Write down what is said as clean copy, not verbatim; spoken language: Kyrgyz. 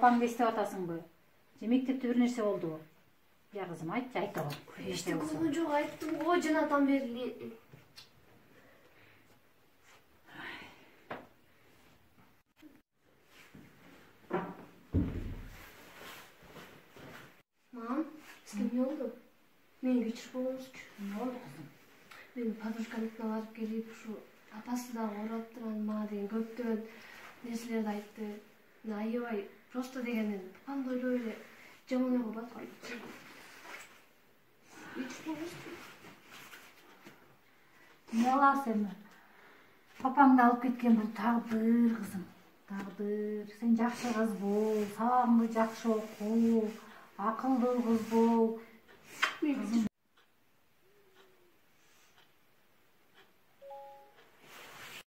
папаңды эстеп атасыңбы? Же мектепте бир нерсе болдубу? Я кызым айтчы, айта го. Эчтеке болгон жок, айттым го жанатан бери. Мам, сизге эмне болду? Мени кечирип койгуңузчу. Эмне болду кызым? Мен подружкамдыкына барып келип, ушу апасы дагы ооруп турган мага деген көптөгөн нерселерди айтты. Мен аябай просто дегенин папамды ойлой эле жаман ойго батып кеттим. Кечирип койгуңузчу. Эмне кыласың эми? Папаңды алып кеткен бул тагдыр кызым. Тагдыр. Сен жакшы кыз бол, сабагыңды жакшы оку, акылдуу кыз бол.